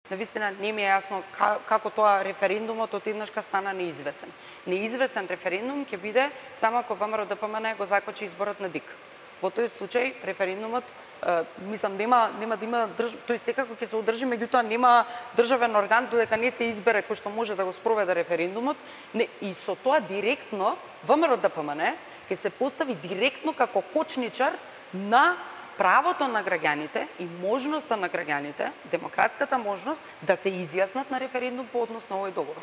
навистина не ми е јасно како тоа референдумот од еднашка стана неизвесен. Неизвесен референдум ќе биде само ако ВМРО ДПМН го закочи изборот на ДИК. Во тој случај референдумот мислам нема да има тој секако ќе се одржи, меѓутоа нема државен орган додека не се избере кој што може да го спроведе референдумот, и со тоа директно ВМРО ДПМН ќе се постави директно како кочничар на правото на граѓаните и можноста на граѓаните, демократската можност да се изјаснат на референдум по однос на овој договор.